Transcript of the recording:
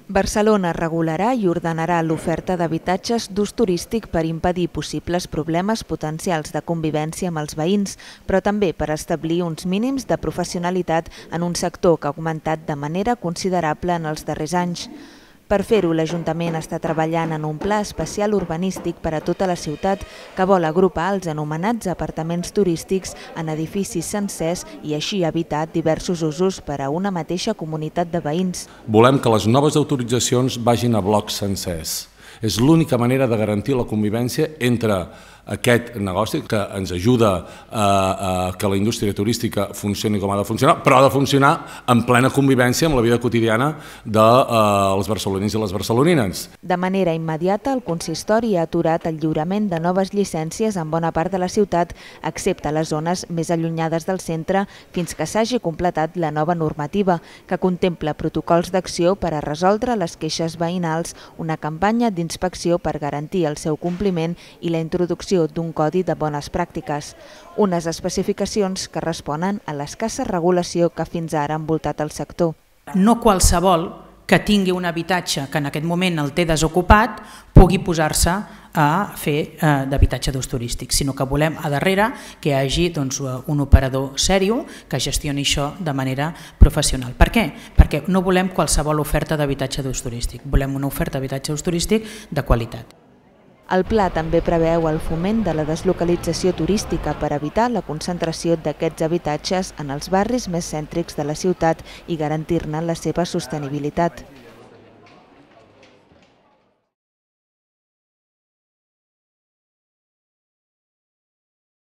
Barcelona regularà i ordenarà l'oferta d'habitatges d'ús turístic per impedir possibles problemes potencials de convivència amb els veïns, però també per establir uns mínims de professionalitat en un sector que ha augmentat de manera considerable en els darrers anys. Per fer-ho, l'Ajuntament està treballant en un pla especial urbanístic per a tota la ciutat que vol agrupar els anomenats apartaments turístics en edificis sencers i així evitar diversos usos per a una mateixa comunitat de veïns. Volem que les noves autoritzacions vagin a blocs sencers. És l'única manera de garantir la convivència entre aquest negoci que ens ajuda a que la indústria turística funcioni com ha de funcionar, però ha de funcionar en plena convivència amb la vida quotidiana dels barcelonins i les barcelonines. De manera immediata, el consistori ha aturat el lliurament de noves llicències en bona part de la ciutat, excepte les zones més allunyades del centre, fins que s'hagi completat la nova normativa, que contempla protocols d'acció per a resoldre les queixes veïnals, una campanya d'inspecció per garantir el seu compliment i la introducció d'un codi de bones pràctiques, unes especificacions que responen a l'escassa regulació que fins ara ha envoltat el sector. No qualsevol que tingui un habitatge que en aquest moment el té desocupat pugui posar-se a fer d'habitatge d'ús turístic, sinó que volem a darrere que hi hagi un operador sèrio que gestioni això de manera professional. Per què? Perquè no volem qualsevol oferta d'habitatge d'ús turístic, volem una oferta d'habitatge d'ús turístic de qualitat. El pla també preveu el foment de la deslocalització turística per evitar la concentració d'aquests habitatges en els barris més cèntrics de la ciutat i garantir-ne la seva sostenibilitat.